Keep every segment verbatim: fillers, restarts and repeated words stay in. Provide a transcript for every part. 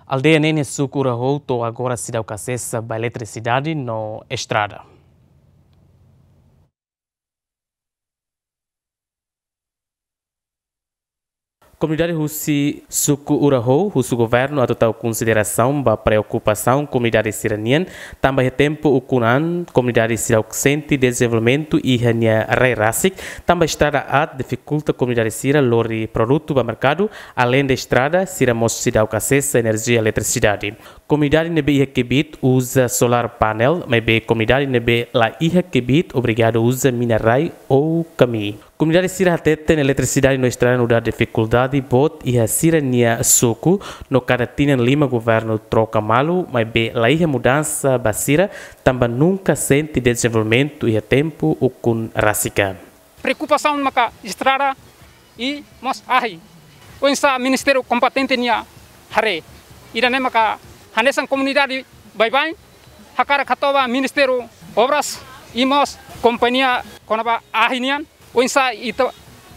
Aldeia ne'e iha suku Uraho to'o agora seidauk asesa ba eletrisidade no estrada. Komunidade husi suku Uraho husu governu atu tau konsiderasaun ba preokupasaun komunidade sira-nian, tanba iha tempu ukun an komunidade seidauk sente dezenvolvimentu iha nia rai rasik, tanba estrada aat difikulta komunidade sira lori produtu ba merkadu, aleinde estrada, sira mós seidauk asesa enerjia eletrisidade. Komunidade ne'ebé iha kbiit uza solar panel, maibé komunidade ne'ebé la iha kbiit obrigadu uza mina-rai ou kamii. Komunidade sira hateten eletrisidade no estrada nu'udar difikuldade boot iha sira-nia suku, no kada tinan lima governu troka malu, maibé la iha mudansa ba sira, tanba nunka sente dezenvolvimentu iha tempu ukun rasik an. Preokupasaun maka estrada i mós ahi. Oinsá ministériu kompetente nia haree. Ida-ne'e maka hanesan komunidade baibain hakarak hato'o ba Ministériu Obras i mós kompañia kona-ba ahi nian. Oinsá ita,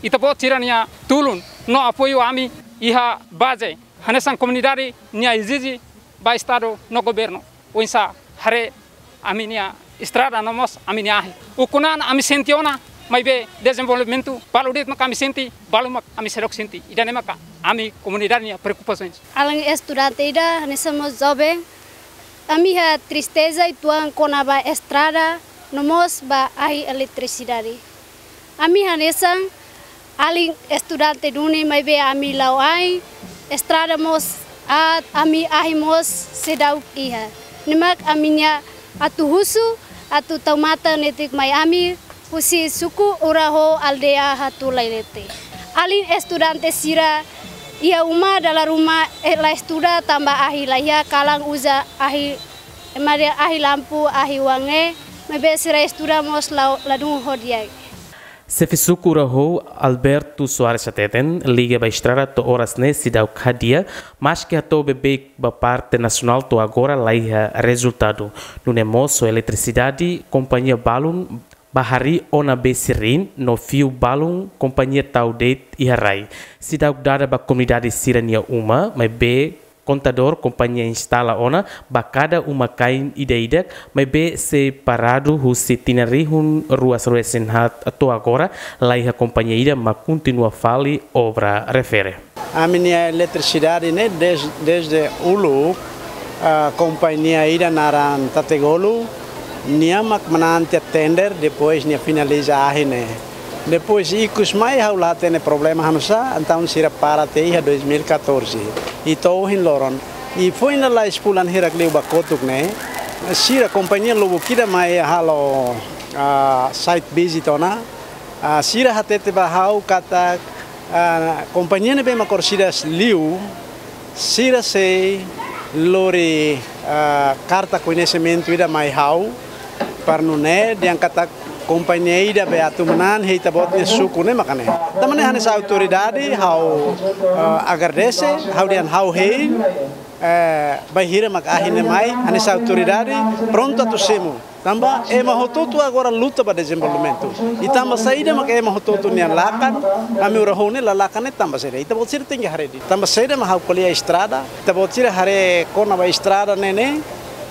ita-boot sira-nia tulun no apoiu ami iha baze. Hanesan komunidade nia ezije ba Estadu no governu. Oinsá haree ami-nia estrada no mós ami-nia ahi. Ukun an ami sente ona, maibé dezenvolvimentu balu de'it maka ami sente, balu mak ami seidauk sente. Ida-ne'e maka ami komunidade nia preokupasaun. Alin estudante ida, hanesan mós joven, ami iha tristeza uitoan kona-ba estrada, no mós ba ahi eletrisidade. Ami hanesan alin estudante duni maibé ami la'o ain, estrada mós aat, ami ahi mós seidauk iha. Ne'e mak ami-nia atu husu, atu tau matan netik mai ami, husi suku Uraho aldeia Hatulailete. Alin estudante sira iha uma dala ruma, eh, la estuda tanba ahi la iha, kalan uza ahi, ema dehan ahi lampu, ahi uang ne'e, maibé sira estuda mós la, ladún ho di'ak. Xefe suku Uraho, Alberto Soares hateten, liga ba estrada to'o oras ne'e seidauk hadi'a, maski hato'o beibeik ba parte nasionál to'o agora la iha rezultadu. Nune'e mós ho eletrisidade, kompañia balun bá harii ona bee sirrin no fiu balun kompañia tau de'it iha rai. Seidauk dada ba komunidade sira-nia uma, maibé kontadór kompañia instala ona ba kada uma-kain ida-idak, maibé sei paradu husi tinan rihun rua sanulu-resin-haat to'o agora, la iha kompañia ida mak kontinua fali obra refere. Ami-nia eletrisidade ne'e des-, dezde uluk, ah, kompañia ida naran Tategolu, nia mak manán tiha tender, depois nia finaliza ahi ne'e. Depois ikus mai ha'u la hatene problema hanusá, entaun sira para tiha iha dois mil e catorze. I to'o ohin loron. I foin lalais fulan hirak liu ba kotuk ne'e, sira kompañia lubuk ida mai halo, ah, site visit ona, ah, sira hatete ba ha'u katak, ah, kompañia ne'ebé mak orsida liu, sira sei lori, ah, karta koñesimentu ida mai ha'u, para nune'e dehan katak kompañia ida be atu manán iha ita-boot nia suku ne'e maka ne'e. Tanba ne'e hanesan autoridade ha'u, ah, agradese, ha'u dehan ha'u hein, eh, bainhira mak ahi ne'e mai, hanesan autoridade prontu atu simu. Tanba ema hotu-hotu agora luta ba dezenvolvimentu. I tanba saida mak ema hotu-hotu nia lakan, ami Uraho ne'e la lakan ne'e tanba saida? Ita-boot sira tenke haree de'it. Tanba saida mak ha'u ko'alia estrada, ita-boot sira haree kona-ba estrada ne'e ne'e,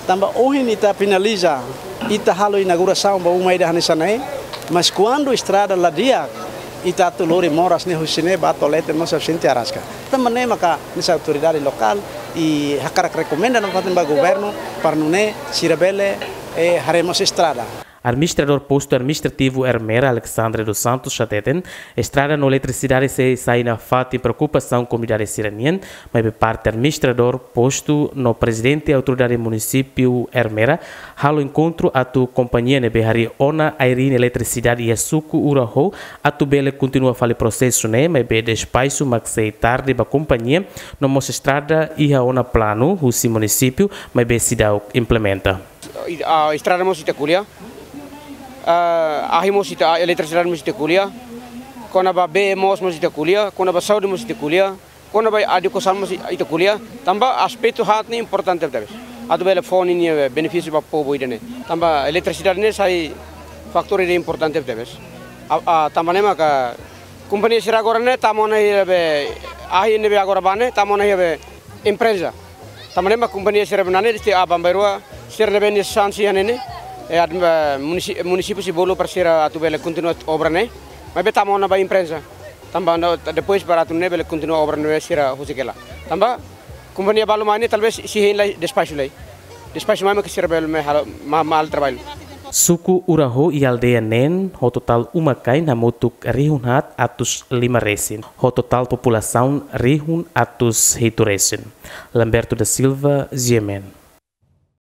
tanba ohin ita finaliza, ita halo inaugurasaun ba uma ida hanesan ne'e, mas kuandu estrada la di'ak, ita atu lori moras ne'e husi ne'e ba Tolete mós sente araska. Tanba ne'e maka hanesan autoridade lokál i hakarak rekomenda nafatin ba governu para nune'e sira bele, eh, haree mós estrada. Administradór Postu Administrativu Ermera, Alexandre dos Santos, hateten, estrada no eletrisidade sei sai nafatin preokupasaun komunidade sira-nian, maibé parte administradór postu no prezidente autoridade munisípiu Ermera halo enkontru atu kompañia ne'ebé harii ona airine eletrisidade iha suku Uraho atu bele kontinua fali prosesu ne'e, maibé despaxu mak sei tarde ba kompañia, no mós estrada iha ona planu husi munisípiu, maibé seidauk implementa. I, ah, estrada mós ita ko'alia. Ah, ahi mós ita, ah, eletrisidade mós ita ko'alia. Kona-ba bee mós mós ita ko'alia. Kona-ba saúde mós ita ko'alia. Kona-ba edukasaun mós ita ko'alia. Tanba aspetu haat ne'e importante tebes. Atu bele fó ninia benefísiu ba povu ida-ne'e. Tanba eletrisidade ne'e sai fatór ida importante tebes. Ah, ah, tanba ne'e maka kompañia sira agora ne'e tama ona iha be, ahi ne'ebé agora bá ne'e tama ona iha be empreza. Tanba ne'e mak kompañia sira-ne'ebé nane deste aban bairua sira-ne'ebé nia sansi iha ne'e ne'e, eh, admi-, eh, munisi-, munisípiu sei bolu para sira atu bele kontinua obra ne'e, maibé tama ona ba imprensa. Tanba no, depois para atu nune'e bele kontinua obra ne'ebé sira husik hela. Tanba kompañia balu mai ne'e talvés sei hein lai despaxu lai. Despaxu mai mak sira bele mai halo, ma-, mai halo traballu. Suku Uraho iha aldeia neen ho totál uma-kain hamutuk rihun haat atus lima resin, ho totál populasaun rihun atus hitu resin. Lamberto da Silva, G M N.